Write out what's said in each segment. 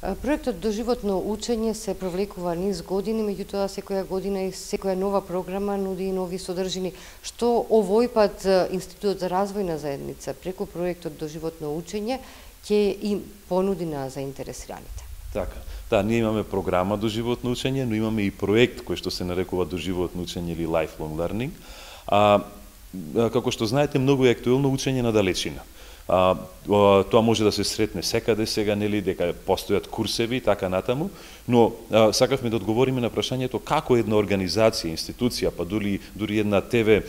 Проектот Доживотно учење се провлекува низ години, меѓутоа секоја година и секоја нова програма нуди и нови содржини. Што овој пат Институтот за развојна заедница преку проектот Доживотно учење ќе им понуди на заинтересираните? Така. Да, ние имаме програма Доживотно учење, но имаме и проект кој што се нарекува Доживотно учење или Lifelong Learning. Како што знаете, многу е актуелно учење на далечина. Тоа може да се сретне секаде сега, нели, дека постојат курсеви и така натаму, но сакавме да одговориме на прашањето како една организација, институција, па дури една ТВ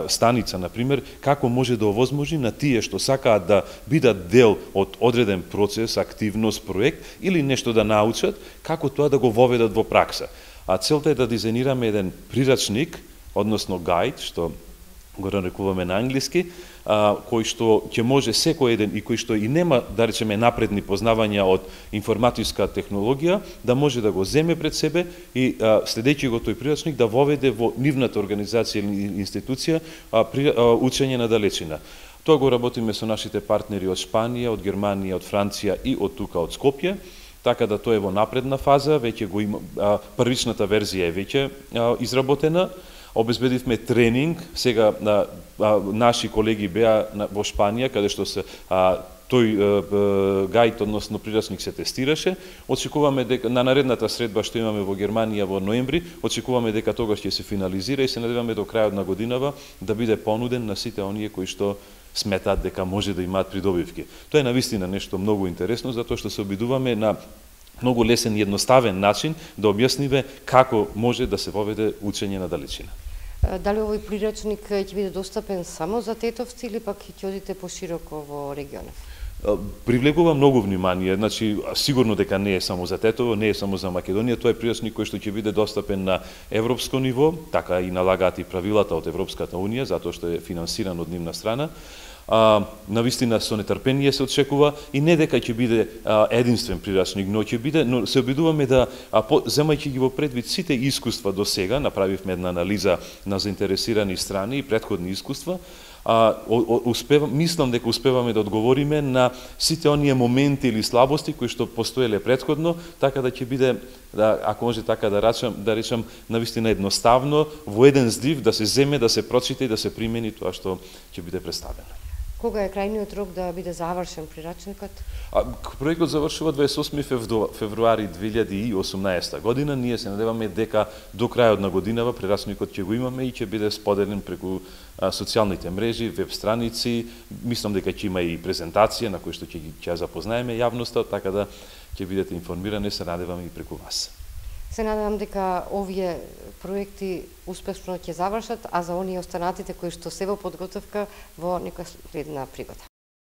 станица, например, како може да овозможи на тие што сакаат да бидат дел од одреден процес, активност, проект или нешто да научат, како тоа да го воведат во пракса. Целта е да дизајнираме еден прирачник, односно гајд, што го нарекуваме на англиски, кој што ќе може секој еден и кој што и нема, да речеме, напредни познавања од информатичка технологија, да може да го земе пред себе и следејќи го тој прирачник да воведе во нивната организација или институција учење на далечина. Тоа го работиме со нашите партнери од Шпанија, од Германија, од Франција и од тука од Скопје, така да тоа е во напредна фаза, веќе го има, првичната верзија е веќе изработена. Обезбедивме тренинг, сега наши колеги беа во Шпанија, каде што се тој гајд, односно прирачник се тестираше. Очекуваме дека на наредната средба што имаме во Германија во ноември, очекуваме дека тогаш ќе се финализира и се надеваме до крајот на годинава да биде понуден на сите оние кои што сметаат дека може да имаат придобивки. Тоа е навистина нешто многу интересно, затоа што се обидуваме на многу лесен и едноставен начин да објасниме како може да се воведе учење на далечина. Дали овој прирачник ќе биде достапен само за тетовци или пак ќе одите пошироко во регионот? Привлегува многу внимание, значи сигурно дека не е само за Тетово, не е само за Македонија, тоа е прирачник кој што ќе биде достапен на европско ниво, така и налагаат и правилата од Европската унија, затоа што е финансиран од нивна страна. Навистина со нетрпение се очекува и не дека ќе биде единствен прирачник, но ќе биде, но се обидуваме да земајќи ги во предвид сите искуства до сега, направивме една анализа на заинтересирани страни и претходни искуства, мислам дека успеваме да одговориме на сите оние моменти или слабости кои што постоеле претходно, така да ќе биде, ако може така да речам, навистина едноставно, во еден здив да се земе, да се прочита и да се примени тоа што ќе биде представено. Кога е крајниот рок да биде завршен прирачникот? Проектот завршува 28 февруари 2018 година. Ние се надеваме дека до крајот на годинава прирачникот ќе го имаме и ќе биде споделен преку социјалните мрежи, веб страници. Мислам дека ќе има и презентација на која што ќе запознаеме јавноста, така да ќе бидете информирани, се надеваме и преку вас. Се надевам дека овие проекти успешно ќе завршат, а за оние останатите кои што се во подготовка во некоја следна пригода.